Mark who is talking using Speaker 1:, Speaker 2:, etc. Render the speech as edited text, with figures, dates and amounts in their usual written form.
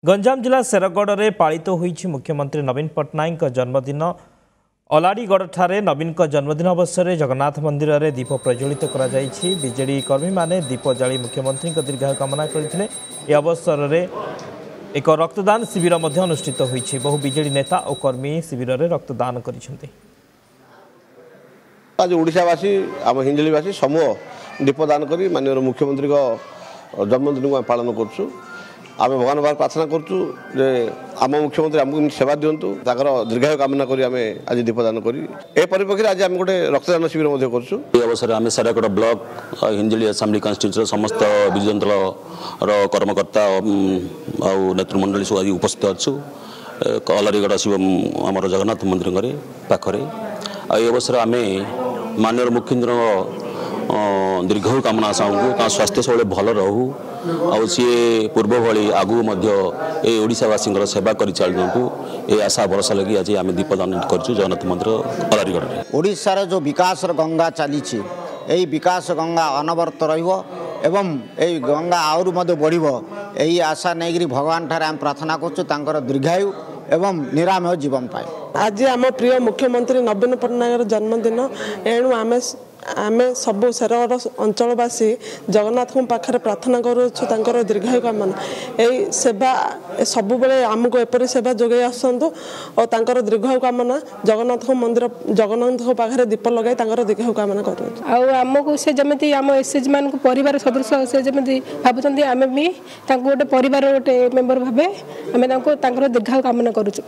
Speaker 1: ଗଞ୍ଜାମ ଜିଲ୍ଲା ଶେରଗଡ଼ରେ ପାଳିତ ହୋଇଛି ମୁଖ୍ୟମନ୍ତ୍ରୀ ନବୀନ ପଟ୍ଟନାୟକଙ୍କ ଜନ୍ମଦିନ। ଅଲାଡ଼ିଗଡ଼ଠାରେ ନବୀନଙ୍କ ଜନ୍ମଦିନ ଅବସରରେ ଜଗନ୍ନାଥ ମନ୍ଦିରରେ ଦୀପ ପ୍ରଜ୍ୱଳିତ କରାଯାଇଛି। ବିଜେଡି କର୍ମୀମାନେ ଦୀପ ଜାଳି ମୁଖ୍ୟମନ୍ତ୍ରୀଙ୍କ ଦୀର୍ଘାୟୁ କାମନା କରିଥିଲେ। ଏ ଅବସରରେ ଏକ ରକ୍ତଦାନ ଶିବିର ମଧ୍ୟ ଅନୁଷ୍ଠିତ ହୋଇଛି। ବହୁ ବିଜେଡି ନେତା ଓ କର୍ମୀ ଶିବିରରେ ରକ୍ତଦାନ କରିଛନ୍ତି।
Speaker 2: ଆଜି ଓଡ଼ିଶାବାସୀ, ଆମ ହିଞ୍ଜିଳିବାସୀ ସମୂହ ଦୀପଦାନ କରି ମାନ୍ୟବର ମୁଖ୍ୟମନ୍ତ୍ରୀଙ୍କ ଜନ୍ମଦିନକୁ ଆମେ ପାଳନ କରୁଛୁ। ଆମେ ଭଗବାନ ପାଖରେ ପ୍ରାର୍ଥନା କରୁଛୁ ଯେ ଆମ ମୁଖ୍ୟମନ୍ତ୍ରୀ ଆମକୁ ଏମିତି ସେବା ଦିଅନ୍ତୁ, ତାଙ୍କର ଦୀର୍ଘାୟୁ କାମନା କରି ଆମେ ଆଜି ଦୀପଦାନ କରି ଏ ପରିପ୍ରେକ୍ଷୀରେ ଆଜି ଆମେ ଗୋଟେ ରକ୍ତଦାନ ଶିବିର ମଧ୍ୟ କରୁଛୁ।
Speaker 3: ଏହି ଅବସରରେ ଆମେ ଶେରଗଡ଼ ବ୍ଲକ ହିଞ୍ଜିଳି ଆସେମ୍ବଲି କନଷ୍ଟିଚ୍ୟୁନ୍ସିର ସମସ୍ତ ବିଜୁ ଜନତା ଦଳର କର୍ମକର୍ତ୍ତା ଆଉ ନେତୃମଣ୍ଡଳୀ ସବୁ ଆଜି ଉପସ୍ଥିତ ଅଛୁ ଅଲାରିଗଡ଼ ଶିବ ଆମର ଜଗନ୍ନାଥ ମନ୍ଦିରରେ ପାଖରେ। ଆଉ ଏହି ଅବସରରେ ଆମେ ମାନ୍ୟବର ମୁଖ୍ୟମନ୍ତ୍ରୀଙ୍କ ଦୀର୍ଘାୟୁ କାମନା ଚାହୁଁଛୁ, ତାଙ୍କ ସ୍ୱାସ୍ଥ୍ୟ ସବୁବେଳେ ଭଲ ରହୁ ଆଉ ସିଏ ପୂର୍ବ ଭଳି ଆଗକୁ ମଧ୍ୟ ଏ ଓଡ଼ିଶାବାସୀଙ୍କର ସେବା କରି ଚାଲନ୍ତୁ, ଏ ଆଶା ଭରସା ଲାଗି ଆଜି ଆମେ ଦୀପଦାନ କରିଛୁ ଜଗନ୍ନାଥ ମନ୍ଦିର ଅଲାରିଗଡ଼ରେ।
Speaker 4: ଓଡ଼ିଶାର ଯେଉଁ ବିକାଶର ଗଙ୍ଗା ଚାଲିଛି, ଏହି ବିକାଶ ଗଙ୍ଗା ଅନବରତ ରହିବ ଏବଂ ଏହି ଗଙ୍ଗା ଆହୁରି ମଧ୍ୟ ବଢ଼ିବ, ଏହି ଆଶା ନେଇକରି ଭଗବାନ ଠାରେ ଆମେ ପ୍ରାର୍ଥନା କରୁଛୁ ତାଙ୍କର ଦୀର୍ଘାୟୁ ଏବଂ ନିରାମୟ ଜୀବନ ପାଇଁ।
Speaker 5: ଆଜି ଆମ ପ୍ରିୟ ମୁଖ୍ୟମନ୍ତ୍ରୀ ନବୀନ ପଟ୍ଟନାୟକର ଜନ୍ମଦିନ, ଏଣୁ ଆମେ ସବୁ ଶେରଗଡ଼ ଅଞ୍ଚଳବାସୀ ଜଗନ୍ନାଥଙ୍କ ପାଖରେ ପ୍ରାର୍ଥନା କରୁଅଛୁ ତାଙ୍କର ଦୀର୍ଘାୟୁ କାମନା। ଏହି ସେବା ସବୁବେଳେ ଆମକୁ ଏପରି ସେବା ଯୋଗାଇ ଆସନ୍ତୁ ଓ ତାଙ୍କର ଦୀର୍ଘାୟୁ କାମନା ଜଗନ୍ନାଥଙ୍କ ମନ୍ଦିର ଜଗନ୍ନାଥଙ୍କ ପାଖରେ ଦୀପ ଲଗାଇ ତାଙ୍କର ଦୀର୍ଘାୟୁ କାମନା କରୁଅଛୁ।
Speaker 6: ଆଉ ଆମକୁ ସେ ଯେମିତି ଆମ ଏସ୍ଏଚ୍ ମାନଙ୍କୁ ପରିବାର ସଦୃଶ ସେ ଯେମିତି ଭାବୁଛନ୍ତି, ଆମେ ବି ତାଙ୍କୁ ଗୋଟେ ପରିବାର ଗୋଟେ ମେମ୍ବର ଭାବେ ଆମେ ତାଙ୍କୁ ତାଙ୍କର ଦୀର୍ଘାୟୁ କାମନା କରୁଛୁ।